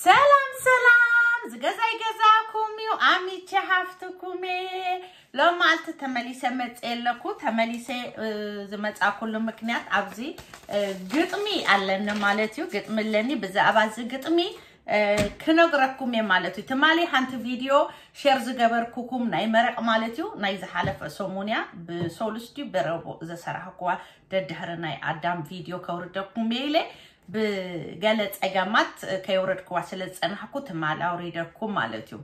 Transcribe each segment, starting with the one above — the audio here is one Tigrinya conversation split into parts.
ሰላም ሰላም፣ ዝገዛይ ገዛኩም እዩ፣ ኣሚቼ ሃፍትኩም እየ። ሎማዓልቲ ተመሊሰ መፅየ ኣለኩ። ተመሊሰ ዝመፃኩሉ ምክንያት ኣብዚ ግጥሚ ኣለኒ ማለት እዩ። ግጥሚ ኣለኒ። ብዛዕባ እዚ ግጥሚ ክነግረኩም እየ ማለት እዩ። ትማሊ ሓንቲ ቪድዮ ሸር ዝገበርኩኩም ናይ መረቕ ማለት እዩ። ናይ ዝሓለፈ ሰሙን እያ፣ ብሶሉስ ድዩ ብረቡዕ ዘሰራሕኩዋ፣ ደድሕሪ ናይ ኣዳም ቪድዮ ከውርደኩም እየ ኢለ ብገለ ፀገማት ከየውረድኩዋ ስለ ዝፀናሕኩ ትማል ኣውሪደኩም ማለት እዩ።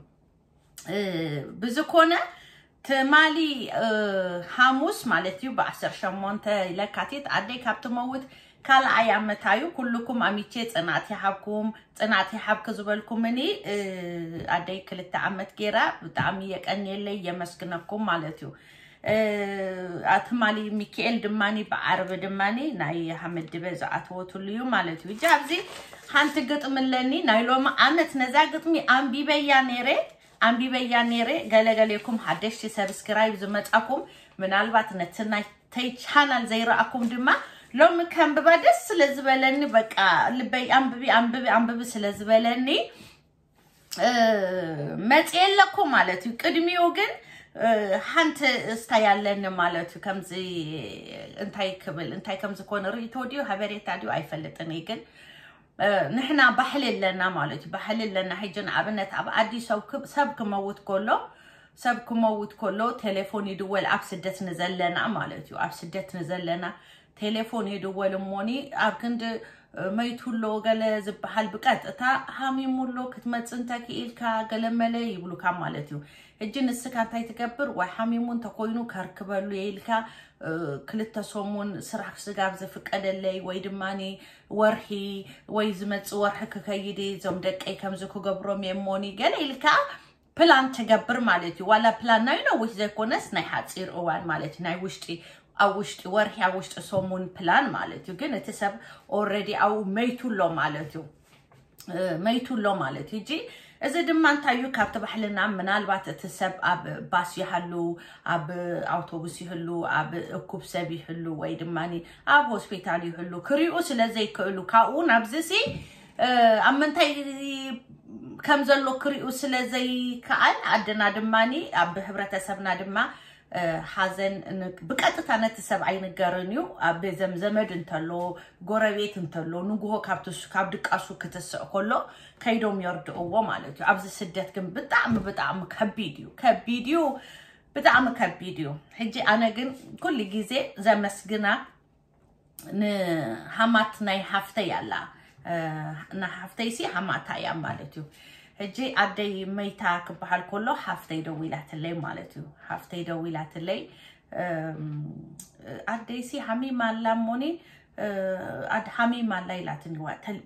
ብዝኮነ ትማሊ ሓሙስ ማለት እዩ፣ ብዓሰርተ ሸሞንተ ለካቲት ኣደይ ካብ ትመውት ካልኣይ ዓመታ እዩ። ኩልኩም ኣሚቼ ፅናት ይሃብኩም፣ ፅናት ይሃብክ ዝበልኩምኒ ኣደይ ክልተ ዓመት ገይራ። ብጣዕሚ የቀንየለይ፣ የመስግነኩም ማለት እዩ። ትማሊ ሚካኤል ድማኒ ብዓርቢ ድማኒ ናይ ሃመድበ ዝኣተወትሉ እዩ ማለት እዩ። እጂ ኣብዚ ሓንቲ ግጥሚ ኣለኒ፣ ናይ ሎሚ ዓመት። ነዛ ግጥሚ ኣንቢበያ ነይረ፣ ኣንቢበያ ነይረ። ገለገሌኩም ሓደሽቲ ሰብስክራይብ ዝመጻኩም፣ ምናልባት ነቲ ናይ ተይ ቻናል ዘይረኣኩም ድማ ሎሚ ከንብባ ደስ ስለ ዝበለኒ፣ በቃ ልበይ ኣንብቢ ኣንብቢ ኣንብቢ ስለ ዝበለኒ መፅየ ኣለኩ ማለት እዩ። ቅድሚኡ ግን ሓንቲ እስታይ ኣለኒ ማለት እዩ። ከምዚ እንታይ ክብል፣ እንታይ ከምዚ ኮነ ርእቶ ድዩ ሃበሬታ ድዩ ኣይፈልጥን እየ፣ ግን ንሕና ባህሊ ኣለና ማለት እዩ። ባህሊ ኣለና። ሕጂ ንኣብነት ኣብ ኣዲስ ሰብ ክመውት ከሎ፣ ሰብ ክመውት ከሎ ቴሌፎን ይድወል፣ ኣብ ስደት ንዘለና ማለት እዩ። ኣብ ስደት ንዘለና ቴሌፎን ይድወል እሞኒ ኣብ ክንዲ መይቱ ኣሎ ገለ ዝበሃል ብቀጥታ ሃሚሙ ኣሎ ክትመጽ እንተ ክኢልካ ገለ መለ ይብሉካ ማለት እዩ። ሕጂ ንስካ እንታይ ትገብር? ወይ ሃሚሙ እንተኮይኑ ከርክበሉ የኢልካ ክልተ ሰሙን ስራሕ ስጋብ ዝፍቀደለይ ወይ ድማ ወርሒ ወይ ዝመጽእ ወርሒ ክከይድ እዞም ደቀይ ከምዚ ክገብሮም የሞኒ ገለ ኢልካ ፕላን ትገብር ማለት እዩ። ዋላ ፕላን ናይ ነዊሕ ዘይኮነስ ናይ ሓፂር እዋን ማለት እዩ። ናይ ውሽጢ ኣብ ውሽጢ ወርሒ ኣብ ውሽጢ ሰሙን ፕላን ማለት እዩ። ግን እቲ ሰብ ኦረዲ ኣብኡ መይቱ ኣሎ ማለት እዩ። መይቱ ኣሎ ማለት እዩ። እጂ እዚ ድማ እንታይ እዩ ካብቲ ባህልና ምናልባት እቲ ሰብ ኣብ ባስ ይሃሉ፣ ኣብ ኣውቶቡስ ይህሉ፣ ኣብ እኩብ ሰብ ይህሉ ወይ ድማ ኣብ ሆስፒታል ይህሉ ክሪኡ ስለ ዘይክእሉ ካብኡ ናብዚ ሲ ኣብ ምንታይ ከም ዘሎ ክሪኡ ስለ ዘይከኣል ኣደና ድማ ኣብ ህብረተሰብና ድማ ሓዘን ብቀጥታ ነቲ ሰብ ኣይንገርን እዩ። ኣብ ዘምዘመድ እንተሎ ጎረቤት እንተሎ ንጉሆ ካብ ድቃሱ ክትስዕ ከሎ ከይዶም የርድእዎ ማለት እዩ። ኣብዚ ስደት ግን ብጣዕሚ ብጣዕሚ ከቢድ እዩ፣ ከቢድ እዩ፣ ብጣዕሚ ከቢድ እዩ። ሕጂ ኣነ ግን ኩሉ ግዜ ዘመስግና ንሃማት ናይ ሃፍተይ ኣላ። ንሃፍተይሲ ሃማታ እያ ማለት እዩ። ሕጂ ኣደይ መይታ ክበሃል ከሎ ሃፍተይ ደዊላትለይ ማለት እዩ። ሃፍተይ ደዊላትለይ ኣደይሲ ሃሚማ ኣላ እሞኒ ኣድ ሃሚማ ኣላ ኢላትኒ።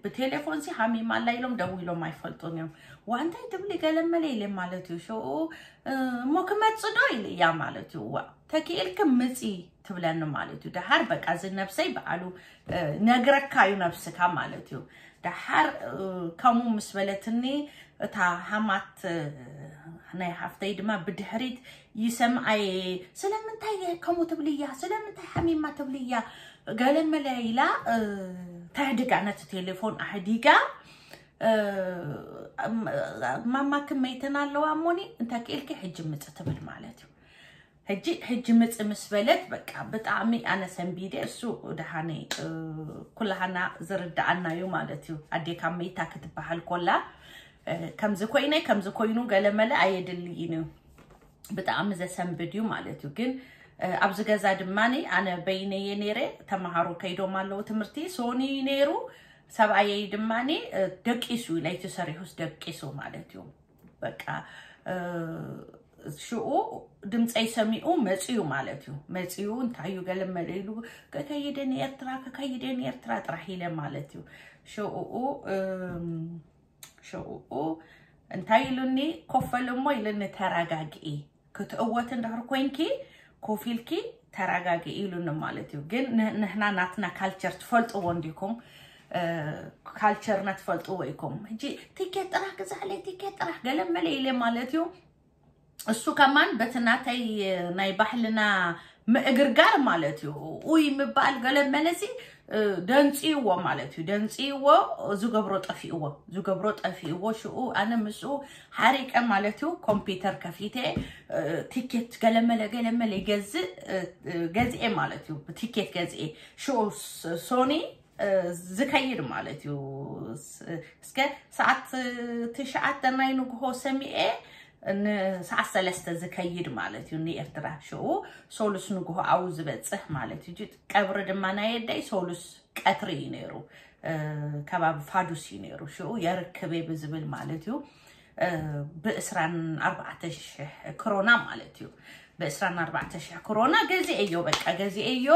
ብቴሌፎንሲ ሃሚማ ኣላ ኢሎም ደዊሎም ኣይፈልጡን እዮም። ዋንታይ ትብሊ ገለመለ ኢለ ማለት እዩ። ሽኡ እሞ ክመጽእ ዶ ኢለ እያ ማለት እዩ። ዋ ተኪኤልክ ምጺ ትብለኒ ማለት እዩ። ደሓር በቃ እዚ ነብሰይ በዓሉ ነግረካ እዩ ነብስካ ማለት እዩ። ደሓር ከምኡ ምስ በለትኒ እታ ሃማት ናይ ሃፍተይ ድማ ብድሕሪት ይሰምዓየ። ስለምንታይ ከምኡ ትብልያ? ስለምንታይ ሓሚማ ትብልያ? ገለመለ ኢላ ተህድጋ፣ ነቲ ቴሌፎን ኣህዲጋ ማማ ክመይተን ኣለዋ እሞኒ እንተ ክኢልኪ ሕጂ ምጽ ትብል ማለት እዩ። ሕጂ ሕጂ ምጽ ምስ በለት በቃ ብጣዕሚ ኣነ ሰንቢደ። እሱ ደሃነ ኩላሃና ዝርዳኣና እዩ ማለት እዩ። ኣዴካ መይታ ክትበሃል ኮላ ከምዚ ኮይነ ከምዚ ኮይኑ ገለመለ ኣየድልይን እዩ። ብጣዕሚ ዘሰንብድ እዩ ማለት እዩ። ግን ኣብዚ ገዛ ድማ ኣነ በይነየ ነይረ። ተምሃሮ ከይዶም ኣለዉ ትምህርቲ። ሶኒ ነይሩ ሰብኣየይ ድማ ደቂሱ፣ ለይቲ ሰሪሑስ ደቂሱ ማለት እዩ። በቃ ሽኡ ድምፀይ ሰሚኡ መፅዩ ማለት እዩ። መፅዩ እንታይ እዩ ገለመለ ኢሉ ከከይደ ንኤርትራ ከከይደ ንኤርትራ ጥራሕ ኢለ ማለት እዩ። ሽኡ ሽኡ እንታይ ኢሉኒ? ኮፈል እሞ ኢሉኒ ተረጋግኢ፣ ክትእወት እንድሕር ኮይንኪ ኮፍ ኢልኪ ተረጋግኢ ኢሉኒ ማለት እዩ። ግን ንሕና ናትና ካልቸር ትፈልጥዎ እንዲኩም፣ ካልቸርና ትፈልጥዎ ኢኩም። ሕጂ ቲኬት ጥራሕ ግዛዕለይ ቲኬት ጥራሕ ገለመለ ኢለ ማለት እዩ። እሱ ከማን በቲ ናተይ ናይ ባህልና ምእግርጋር ማለት እዩ። ኡይ ምባል ገለ መለሲ ደንፅይዎ ማለት እዩ። ደንፅይዎ፣ ዝገብሮ ጠፊእዎ፣ ዝገብሮ ጠፊእዎ። ሽኡ ኣነ ምስኡ ሓሪቀ ማለት እዩ። ኮምፒውተር ከፊተ፣ ቲኬት ገለመለ ገለመለ ይገዝእ፣ ገዝኤ ማለት እዩ። ቲኬት ገዝኤ ሽኡ ሶኒ ዝከይድ ማለት እዩ። እስከ ሰዓት ትሽዓተ ናይ ንግሆ ሰሚኤ ንሰዓት ሰለስተ ዝከይድ ማለት እዩ። ንኤርትራ ሽኡ ሶሉስ ንግሆ ኣው ዝበፅሕ ማለት እዩ። ቀብሪ ድማ ናይ ኣደይ ሶሉስ ቀትሪ እዩ ነይሩ። ከባቢ ፋዱስ እዩ ነይሩ። ሽኡ የርክብ ብዝብል ማለት እዩ። ብእስራን ኣርባዕተ ሽሕ ክሮና ማለት እዩ። ብእስራን ኣርባዕተ ሽሕ ክሮና ገዚኤዮ፣ በቃ ገዚኤዮ።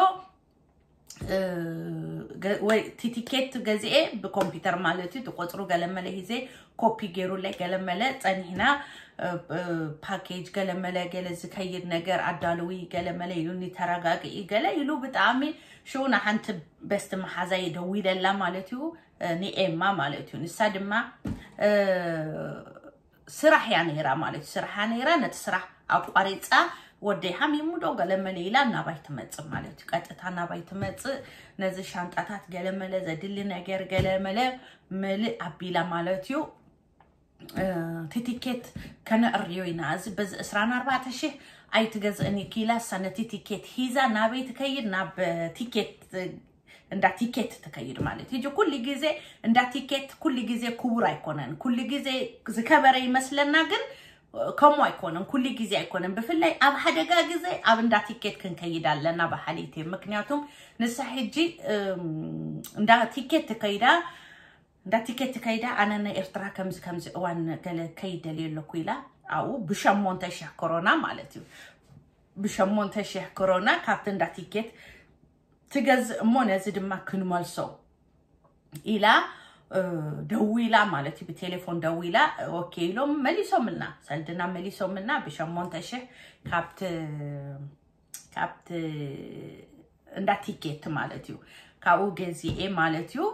ወይ ቲቲኬት ገዚኤ ብኮምፒውተር ማለት እዩ። ትቆፅሩ ገለመለ ሂዜ ኮፒ ገይሩለይ፣ ገለመለ ጸኒሕና፣ ፓኬጅ ገለመለ፣ ገለ ዝከይድ ነገር ኣዳልዊ ገለመለ ኢሉኒ፣ ተረጋግኢ ገለ ኢሉ። ብጣዕሚ ሽኡ ንሓንቲ በስቲ መሓዛይ ደዊለላ ማለት እዩ፣ ንኤማ ማለት እዩ። ንሳ ድማ ስራሕ እያ ነይራ ማለት እዩ። ስራሕ እያ ነይራ። ነቲ ስራሕ ኣቋሪፃ ወደይ ሓሚሙ ዶ ገለመለ ኢላ ናባይ ትመፅእ ማለት እዩ። ቀጥታ ናባይ ትመፅእ፣ ነዚ ሻንጣታት ገለመለ፣ ዘድሊ ነገር ገለመለ ምልእ ኣቢላ ማለት እዩ። እቲ ቲኬት ከነእርዮ ኢና። እዚ በዚ ዕስራን ኣርባዕተ ሽሕ ኣይትገዝእን ኢኪ ኢላ፣ እሳ ነቲ ቲኬት ሒዛ ናበይ ትከይድ? ናብ ቲኬት፣ እንዳ ቲኬት ትከይድ ማለት እዩ። ኩሉ ግዜ እንዳ ቲኬት ኩሉ ግዜ ክቡር ኣይኮነን። ኩሉ ግዜ ዝከበረ ይመስለና፣ ግን ከምኡ ኣይኮነን። ኩሉ ግዜ ኣይኮነን። ብፍላይ ኣብ ሓደጋ ግዜ ኣብ እንዳ ቲኬት ክንከይድ ኣለና በሃሊት እየ። ምክንያቱም ንሳ ሕጂ እንዳ ቲኬት ትከይዳ፣ እንዳ ቲኬት ከይዳ፣ ኣነ ንኤርትራ ከምዚ ከምዚ እዋን ገለ ከይደልየ ኣለኩ ኢላ፣ ኣብኡ ብሸሞንተ ሽሕ ክሮና ማለት እዩ። ብሸሞንተ ሽሕ ክሮና ካብቲ እንዳ ቲኬት ትገዝእ እሞ ነዚ ድማ ክንመልሶ ኢላ ደዊላ ማለት እዩ። ብቴሌፎን ደዊላ፣ ኦኬ ኢሎም መሊሶምልና፣ ሰልድና መሊሶምልና ብሸሞንተ ሽሕ ካብቲ ካብቲ እንዳ ቲኬት ማለት እዩ። ካብኡ ገዚኤ ማለት እዩ።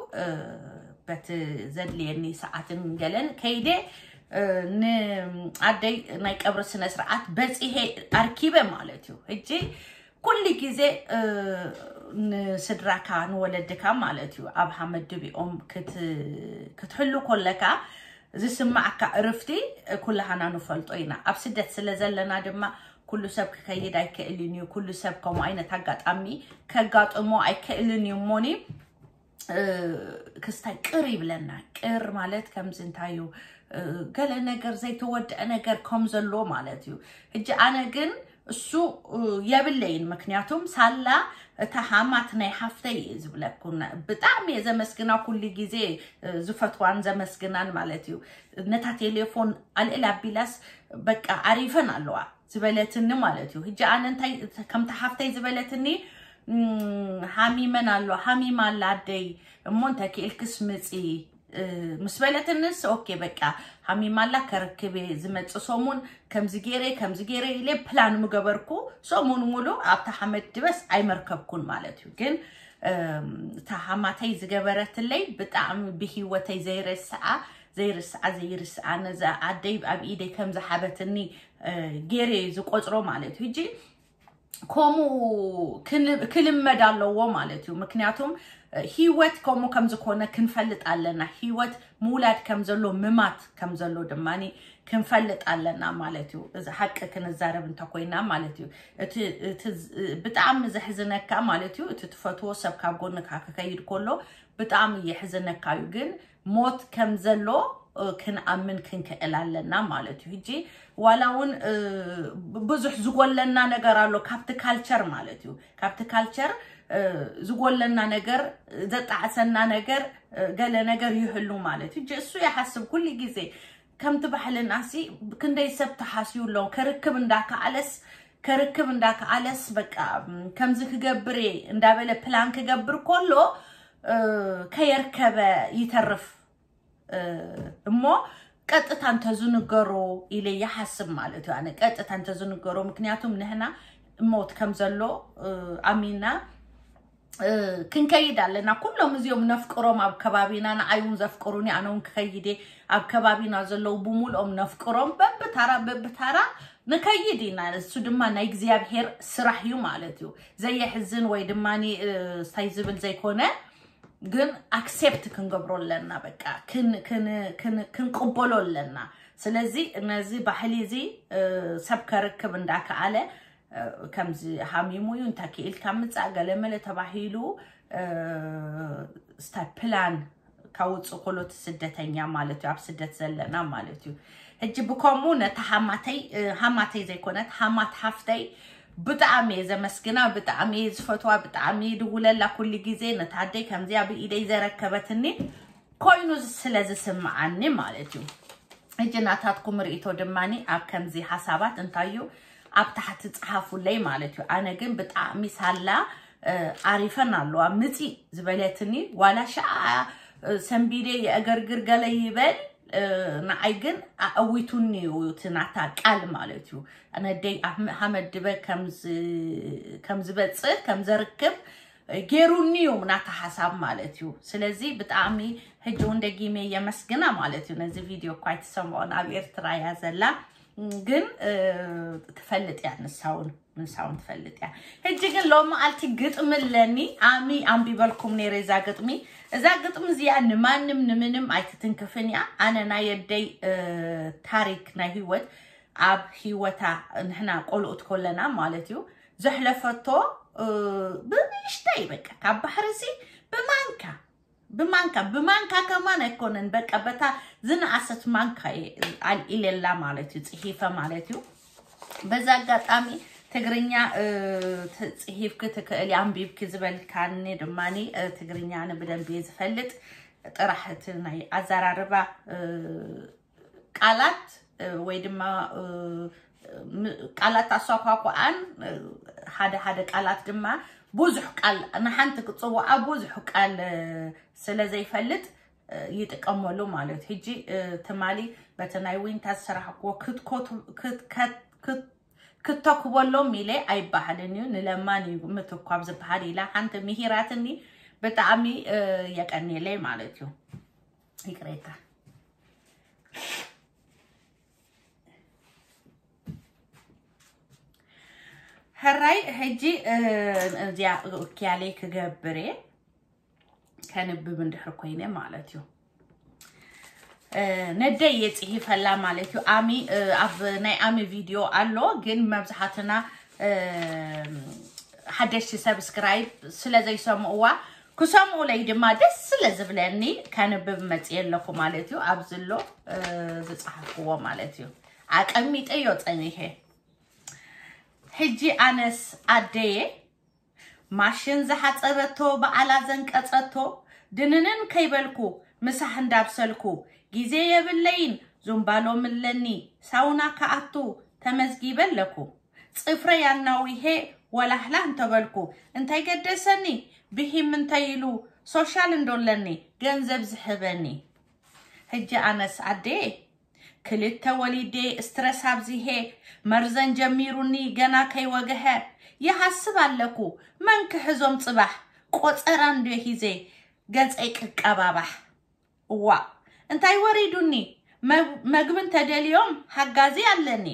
በቲ ዘድልየኒ ሰዓትን ገለን ከይደ ንኣደይ ናይ ቀብሪ ስነ ስርዓት በፂሄ ኣርኪበ ማለት እዩ። ሕጂ ኩሉ ግዜ ንስድራካ ንወለድካ ማለት እዩ ኣብ ሓመድ ድቢኦም ክትሕሉ ኮለካ ዝስማዓካ እርፍቲ ኩላሃና ንፈልጦ ኢና። ኣብ ስደት ስለ ዘለና ድማ ኩሉ ሰብ ክከይድ ኣይክእልን እዩ። ኩሉ ሰብ ከምኡ ዓይነት ኣጋጣሚ ከጋጥሞ ኣይክእልን እዩ። እሞኒ ክስታይ ቅር ይብለና። ቅር ማለት ከምዚ እንታይ እዩ፣ ገለ ነገር ዘይተወድአ ነገር ከም ዘሎ ማለት እዩ። ሕጂ ኣነ ግን እሱ የብለይን። ምክንያቱም ሳላ እታ ሃማት ናይ ሓፍተይ እየ ዝብለኩና። ብጣዕሚ እየ ዘመስግና፣ ኩሉ ግዜ ዝፈትዋን ዘመስግናን ማለት እዩ። ነታ ቴሌፎን ኣልዕል ኣቢላስ በቃ ኣሪፈን ኣለዋ ዝበለትኒ ማለት እዩ። ሕጂ ኣነ እንታይ ከምታ ሓፍተይ ዝበለትኒ፣ ሓሚመን ኣሎ፣ ሓሚማ ኣላ ኣደይ፣ እሞ እንተ ክኢልክስ ምፂ ምስ በለትንስ፣ ኦኬ በቃ ሓሚማ ኣላ፣ ከረክብ እየ ዝመፅእ ሰሙን፣ ከምዚ ገይረ ከምዚ ገይረ ኢለ ፕላን ምገበርኩ። ሰሙን ሙሉ ኣብታ ሓመድ ድበስ ኣይመርከብኩን ማለት እዩ። ግን እታ ሓማተይ ዝገበረትለይ ብጣዕሚ ብሂወተይ ዘይረስዓ ዘይርስዓ ዘይርስዓ፣ ነዛ ኣደይ ኣብ ኢደይ ከም ዝሓበትኒ ገይረ ዝቆፅሮ ማለት እዩ። ሕጂ ከምኡ ክልመድ ኣለዎ ማለት እዩ። ምክንያቱም ሂወት ከምኡ ከም ዝኾነ ክንፈልጥ ኣለና። ሂወት ምውላድ ከም ዘሎ፣ ምማት ከም ዘሎ ድማ ክንፈልጥ ኣለና ማለት እዩ። እዚ ሓቂ ክንዛረብ እንተኮይና ማለት እዩ። እቲ ብጣዕሚ ዘሕዝነካ ማለት እዩ፣ እቲ ትፈትዎ ሰብ ካብ ጎንካ ክከይድ ከሎ ብጣዕሚ የሕዝነካ እዩ። ግን ሞት ከም ዘሎ ክንኣምን ክንክእል ኣለና ማለት እዩ። ሕጂ ዋላ እውን ብዙሕ ዝጎለና ነገር ኣሎ ካብቲ ካልቸር ማለት እዩ። ካብቲ ካልቸር ዝጎለና ነገር፣ ዘጣዕሰና ነገር፣ ገለ ነገር ይህሉ ማለት እዩ። ሕጂ እሱ ይሓስብ ኩሉ ግዜ ከምቲ ባህልናሲ ክንደይ ሰብ ተሓስዩ ኣሎ። ከርክብ እንዳከኣለስ ከርክብ እንዳከኣለስ በቃ ከምዚ ክገብር እየ እንዳበለ ፕላን ክገብር ከሎ ከየርከበ ይተርፍ። እሞ ቀጥታ እንተዝንገሮ ኢለ ይሓስብ ማለት እዩ። ኣነ ቀጥታ እንተዝንገሮ፣ ምክንያቱም ንሕና ሞት ከም ዘሎ ኣሚና ክንከይድ ኣለና። ኩሎም እዚኦም ነፍቅሮም ኣብ ከባቢና፣ ንዓይ እውን ዘፍቅሩኒ፣ ኣነ እውን ክኸይድ እየ። ኣብ ከባቢና ዘለዉ ብምልኦም ነፍቅሮም፣ በብታራ በብታራ ንከይድ ኢና። እሱ ድማ ናይ እግዚኣብሔር ስራሕ እዩ ማለት እዩ። ዘየሕዝን ወይ ድማ እንታይ ዝብል ዘይኮነ፣ ግን ኣክሴፕት ክንገብሮ ኣለና። በቃ ክን- ክን- ክን- ክንቅበሎ ኣለና። ስለዚ ነዚ ባህሊ እዚ ሰብ ከርክብ እንዳከኣለ ከምዚ ሃሚሙ እዩ፣ እንታይ ክኢልካ ምጻእ ገለመለ ተባሂሉ ስታይ ፕላን ካውጽእ ኮሎት ስደተኛ ማለት እዩ፣ ኣብ ስደት ዘለና ማለት እዩ። ሕጂ ብከምኡ ነታ ሃማተይ ሃማተይ ዘይኮነት ሃማት ሓፍተይ ብጣዕሚ እየ ዘመስግና፣ ብጣዕሚ እየ ዝፈትዋ፣ ብጣዕሚ እየ ድውለላ ኩሉ ግዜ። ነታ ኣደይ ከምዚኣ ብኢደይ ዘረከበትኒ ኮይኑ ስለ ዝስምዓኒ ማለት እዩ። ሕጂ ናታትኩም ርእይቶ ድማኒ ኣብ ከምዚ ሓሳባት እንታይ እዩ ኣብ ታሕቲ ጽሓፉለይ ማለት እዩ። ኣነ ግን ብጣዕሚ ሳላ ኣሪፈን ኣለዋ ምጺ ዝበለትኒ ዋላ ሸዓ ሰንቢደ የእገርግር ገለ ይበል ንዓይ ግን ኣእዊቱኒ እዩ እቲ ናታ ቃል ማለት እዩ። ነደይ ሃመድበ ከም ዝበጽእ ከም ዘርክብ ገይሩኒ እዩ ናታ ሓሳብ ማለት እዩ። ስለዚ ብጣዕሚ ሕጂ እውን ደጊመ የመስግና ማለት እዩ። ነዚ ቪድዮ እኳ ኣይትሰምዖን ኣብ ኤርትራ እያ ዘላ ግን ትፈልጥ እያ ንሳውን ምንሳውን ትፈልጥ እያ። ሕጂ ግን ሎሚ ኣልቲ ግጥሚ ኣለኒ ኣሚ ኣንቢበልኩም ነይረ እዛ ግጥሚ። እዛ ግጥሚ እዚኣ ንማንም ንምንም ኣይትትንክፍን እያ። ኣነ ናይ ኣደይ ታሪክ ናይ ህይወት ኣብ ህይወታ ንሕና ቆልኡት ኮለና ማለት እዩ ዘሕለፈቶ ብንእሽተይ በቃ ካብ ባሕርሲ ብማንካ ብማንካ ብማንካ ከማን ኣይኮነን በቃ በታ ዝነኣሰት ማንካ ኣልኢለላ ማለት እዩ ጽሒፈ ማለት እዩ። በዛ ኣጋጣሚ ትግርኛ ጽሒፍኪ ትክእሊ ኣንቢብኪ ዝበልካኒ ድማ ትግርኛ ንብደንብ ዝፈልጥ ጥራሕ እቲ ናይ ኣዘራርባ ቃላት ወይ ድማ ቃላት ኣሳኳኳኣን ሓደ ሓደ ቃላት ድማ ብዙሕ ቃል ንሓንቲ ክፅዋዓ ብዙሕ ቃል ስለ ዘይፈልጥ ይጥቀመሉ ማለት ሕጂ ትማሊ በቲ ናይ ዊንታ ዝሰራሕክዎ ክትተክበሎም ኢለ ኣይበሃልን እዩ ንለማን እዩ ምትኳብ ዝበሃል ኢላ ሓንቲ ምሂራትኒ ብጣዕሚ የቀኒለይ ማለት እዩ። ይቅሬታ ሕራይ ሕጂ እዚኣ እክያለይ ክገብር እየ ከንብብ እንድሕር ኮይነ ማለት እዩ። ነደይ እየ ፅሒፈላ ማለት እዩ። ኣሚ ኣብ ናይ ኣሚ ቪድዮ ኣሎ ግን መብዝሓትና ሓደሽቲ ሰብስክራይብ ስለ ዘይሰምእዋ ክሰምኡለይ ድማ ደስ ስለ ዝብለኒ ከንብብ መፅየ ኣለኩ ማለት እዩ። ኣብዚ ኣሎ ዝፀሓፍክዎ ማለት እዩ። ኣቀሚጠዮ ፀኒሐ ሕጂ ኣነስ ኣደየ ማሽን ዝሓፀበቶ በዓላ ዘንቀፀቶ ድንንን ከይበልኩ ምሳሕ እንዳብሰልኩ ግዜ የብለይን ዙምባሎ ምለኒ ሳውና ከኣቱ ተመዝጊበ ኣለኩ። ፅፍረይ ኣናዊሄ ወላህላ እንተበልኩ እንታይ ገደሰኒ ብሂም እንተይሉ ሶሻል እንዶለኒ ገንዘብ ዝሕበኒ። ሕጂ ኣነስ ኣዴ ክልተ ወሊዴ ስትረስ ኣብዚሄ መርዘን ጀሚሩኒ ገና ከይወገሀ ይሃስብ ኣለኩ መን ክሕዞም ፅባሕ ቆፀራ እንዶ ሂዜ ገፀይ ቅቀባባሕ። እዋ እንታይ ወሪዱኒ መግቢ እንተደልዮም ሓጋዚ ኣለኒ።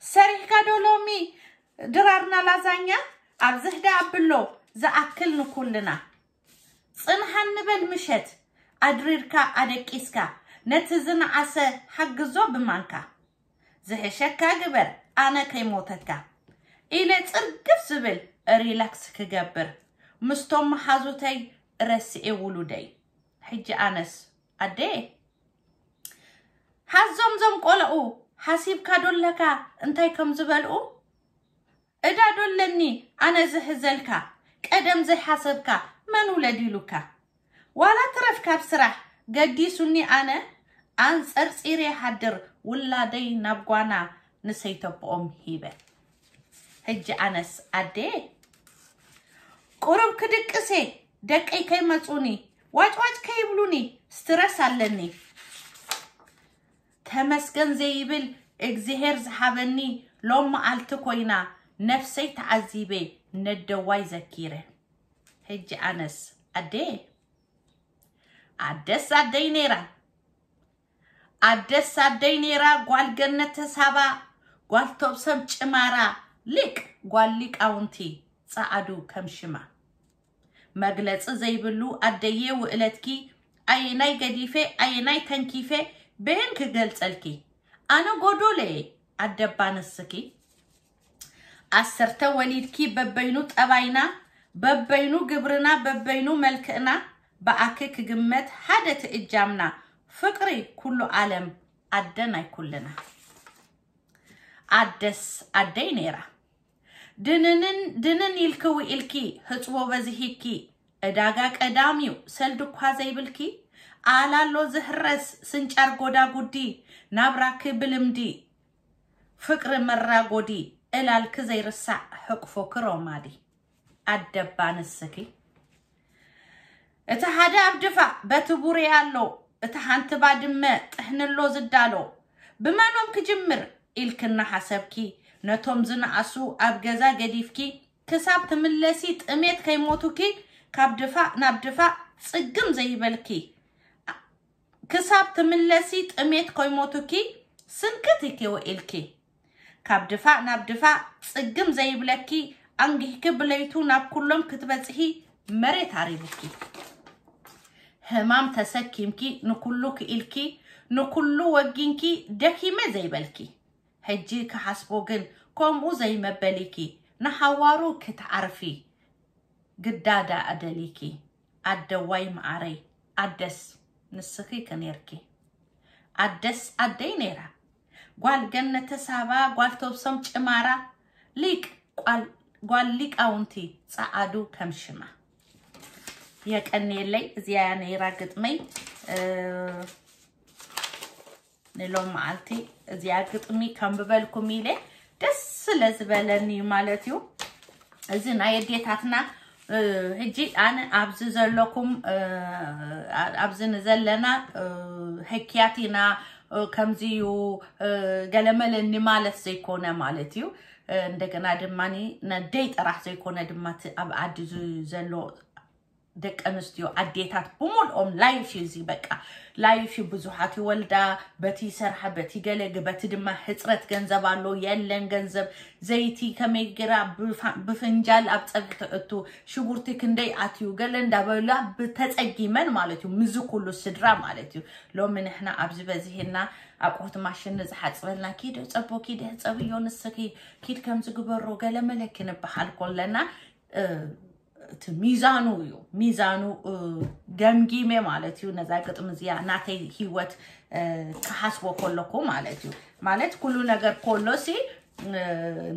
ሰሪሕካ ዶ ሎሚ ድራርና ላዛኛ ኣብዝህ ደኣ ኣብሎ ዝኣክል ንኩልና። ጽንሓ ንበል ምሸት ኣድሪርካ ኣደቂስካ ነቲ ዝነኣሰ ሓግዞ ብማንካ። ዝሕሸካ ግበር ኣነ ከይሞተካ ኢለ ጽርግፍ ዝብል ሪላክስ ክገብር ምስቶም መሓዙተይ ረስኤ ውሉደይ። ሕጂ ኣነስ ኣደ ሓዞም ዞም ቆለኡ ሓሲብካ ዶ ኣለካ እንታይ ከም ዝበልኡ? እዳ ዶ ኣለኒ ኣነ ዝሕዘልካ ቀደም ዘይሓሰብካ መን ውለድ ኢሉካ? ዋላ ትረፍ ካብ ስራሕ ገዲሱኒ ኣነ ኣንጸርጺረ ይሓድር ውላደይ ናብ ጓና ንሰይተብኦም ሂበ። ሕጂ ኣነስ ኣደ ቁሩብ ክድቅሴ ደቀይ ከይመጹኒ ዋጭዋጭ ከይብሉኒ ስትረስ ኣለኒ። ተመስገን ዘይብል እግዚኣብሔር ዝሃበኒ ሎም መዓልቲ ኮይና ነፍሰይ ተዓዚበ ነደዋይ ዘኪረ። ሕጂ ኣነስ ኣደ ኣደስ ኣደይ ነይራ ኣደስ ኣደይ ነይራ ጓል ገነት ተሳባ ጓል ቶብሰም ጭማራ ሊቅ ጓል ሊቃውንቲ ጸዓዱ ከም ሽማ። መግለጺ ዘይብሉ ኣደየ ውእለትኪ ኣየናይ ገዲፈ ኣየናይ ተንኪፈ በየን ክገልጸልኪ ኣነ ጎዶለየ ኣደባ ንስኪ ኣሰርተ ወሊድኪ በበይኑ ጠባይና በበይኑ ግብርና በበይኑ መልክዕና ብኣኪ ክግመት ሓደ ትእጃምና ፍቅሪ ኩሉ ዓለም ኣደ ናይ ኩልና ኣደስ ኣደይ ነይራ ድንንን ድንን ኢልኪ ውኢልኪ ህፅቦ በዚሂኪ ዕዳጋ ቀዳም እዩ ሰልዲ እኳ ዘይብልኪ ኣላሎ ዝህረስ ስንጫር ጎዳጉዲ ናብራኪ ብልምዲ ፍቅሪ መራጎዲ እላልኪ ዘይርሳዕ ሕቅፎኪ ሮማዲ ኣደባ ንስኪ እቲ ሓደ ኣብ ድፋ በቲ ቡሬ ኣሎ እቲ ሓንቲ ባድመ ጥሕንሎ ዝዳሎ ብመኖም ክጅምር ኢልኪ እናሓሰብኪ ነቶም ዝነኣሱ ኣብ ገዛ ገዲፍኪ ክሳብ ትምለሲ ጥሜት ከይሞቱኪ ካብ ድፋእ ናብ ድፋእ ጽግም ዘይበልኪ ክሳብ ትምለሲ ጥሜት ከይሞቱኪ ስንክት ኢኪ ውዒልኪ ካብ ድፋእ ናብ ድፋእ ጽግም ዘይብለኪ ኣንጊህኪ ብለይቱ ናብ ኩሎም ክትበጽሒ መሬት ኣሪቡኪ ህማም ተሰኪምኪ ንኩሉ ክኢልኪ ንኩሉ ወጊንኪ ደኪመ ዘይበልኪ ሕጂ ክሓስቦ ግን ከምኡ ዘይመበሊኪ ንሓዋሩ ክትዓርፊ ግዳ ደኣ ደሊኪ ኣደዋይ መዓረይ ኣደስ ንስኺ ከ ኔርኪ ኣደስ ኣደይ ኔራ ጓል ገነተ ሳባ ጓል ተብሶም ጭማራ ሊቅ ጓል ሊቃውንቲ ጸዓዱ ከም ሽማ የቀንየለይ እዚኣ ነይራ ግጥመይ ንሎም መዓልቲ እዚኣ ግጥሚ ከንብበልኩም ኢለ ደስ ስለ ዝበለኒ እዩ ማለት እዩ እዚ ናይ ኣዴታትና ሕጂ ኣነ ኣብዚ ዘለኩም ኣብዚ ንዘለና ህክያት ኢና ከምዚ እዩ ገለመለኒ ማለት ዘይኮነ ማለት እዩ እንደገና ድማ ነደይ ጥራሕ ዘይኮነ ድማ ኣብ ዓዲ ዘሎ ደቂ ኣንስትዮ ኣዴታት ብምልኦም ላይፍ እዩ እዚ በቃ ላይፍ እዩ ብዙሓት ይወልዳ በቲ ይሰርሓ በቲ ገለ በቲ ድማ ሕፅረት ገንዘብ ኣሎ የለን ገንዘብ ዘይቲ ከመይ ገራ ብፍንጃል ኣብ ፀብሒ ትእቱ ሽጉርቲ ክንደይ ኣትዩ ገለ እንዳበላ ብተፀጊመን ማለት እዩ ምዚ ኩሉ ስድራ ማለት እዩ ሎሚ ንሕና ኣብዚ በዚህና ኣቁሑት ማሽን ንዝሓፅበልና ኪድ ሕፀቦ ኪድ ሕፀብዮ ንስኪ ኪድ ከምዚ ግበሮ ገለ መለኪ ንበሃል ኮለና እቲ ሚዛኑ እዩ ሚዛኑ ገምጊመ ማለት እዩ ነዛ ግጥሚ እዚኣ ናተይ ህይወት ክሓስቦ ከለኩ ማለት እዩ ማለት ኩሉ ነገር ከሎ ሲ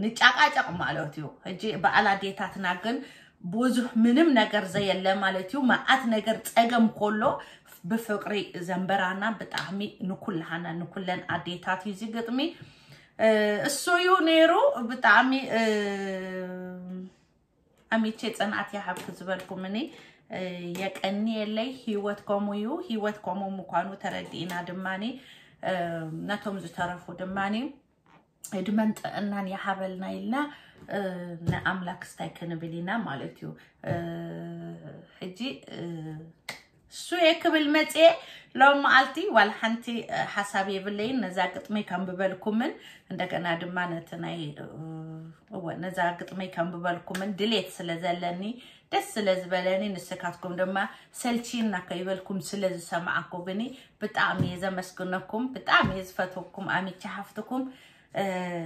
ንጫቃጨቅ ማለት እዩ ሕጂ በዓል ኣዴታትና ግን ብዙሕ ምንም ነገር ዘየለ ማለት እዩ መዓት ነገር ፀገም ከሎ ብፍቅሪ ዘንበራና ብጣዕሚ ንኩልሃና ንኩለን ኣዴታት እዩ እዚ ግጥሚ እሱ እዩ ነይሩ ብጣዕሚ ኣሚቼ ፅንዓት ይሃብኪ ዝበልኩምኒ የቀንየለይ ህይወት ከምኡ እዩ ህይወት ከምኡ ምኳኑ ተረዲእና ድማኒ ነቶም ዝተረፉ ድማኒ ዕድመን ጥዕናን ይሃበልና ኢልና ንኣምላክ ስታይ ክንብል ኢና ማለት እዩ ሕጂ እሱ እየ ክብል መፅየ ሎም መዓልቲ ዋላ ሓንቲ ሓሳብ የብለይን ነዛ ግጥሚ ከንብበልኩምን እንደገና ድማ ነቲ ናይ እወ ነዛ ግጥመይ ከንብበልኩምን ድሌት ስለ ዘለኒ ደስ ስለ ዝበለኒ ንስካትኩም ድማ ሰልቺና ከይበልኩም ስለ ዝሰማዓኩምኒ ብጣዕሚ እየ ዘመስግነኩም ብጣዕሚ እየ ዝፈትወኩም ኣሚቻ ሃፍትኩም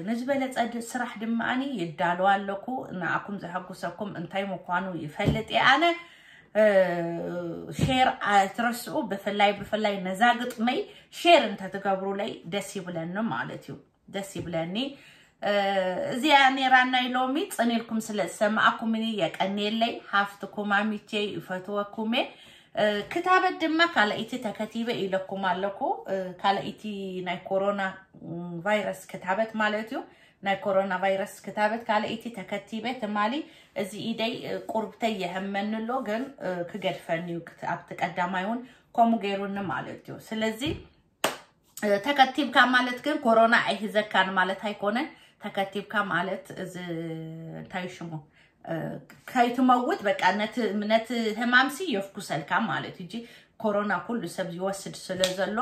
ንዝበለፀ ስራሕ ድማ ኣነ ይዳለዋ ኣለኩ ንኣኩም ዘሐጉሰኩም እንታይ ምኳኑ ይፈልጥ እየ ኣነ ሼር ኣይትረስኡ ብፍላይ ብፍላይ ነዛ ግጥመይ ሼር እንተትገብሩለይ ደስ ይብለኒ ማለት እዩ ደስ ይብለኒ እዚኣ ነይራ ናይ ሎሚ ፅን ኢልኩም ስለ ዝሰማዕኩምኒ የቀንየለይ ሃፍትኩም ኣሚቼ ይፈትወኩም እየ ክታበት ድማ ካልኣይቲ ተከቲበ ኢለኩም ኣለኩ ካልኣይቲ ናይ ኮሮና ቫይረስ ክታበት ማለት እዩ ናይ ኮሮና ቫይረስ ክታበት ካልኣይቲ ተከቲበ ትማሊ እዚ ኢደይ ቁርብተይ የህመኒ ኣሎ ግን ክገድፈኒ እዩ ኣብቲ ቀዳማይ እውን ከምኡ ገይሩኒ ማለት እዩ ስለዚ ተከቲብካ ማለት ግን ኮሮና ኣይህዘካን ማለት ኣይኮነን ተከቲብካ ማለት እዚ እንታይ ሽሙ ከይትመውት በቃ ነቲ ህማምሲ የፍኩሰልካ ማለት እዩ ኮሮና ኩሉ ሰብ ይወስድ ስለ ዘሎ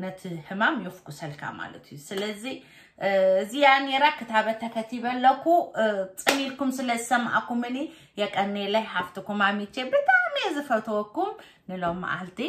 ነቲ ሕማም የፍኩሰልካ ማለት እዩ። ስለዚ እዚኣ ነይራ ክታበት ተከቲበ ኣለኩ። ጽን ኢልኩም ስለ ዝሰማዕኩምኒ የቀኔለይ ሓፍትኩም ኣሚቼ ብጣዕሚ እየ ዝፈትወኩም። ንሎም መዓልቲ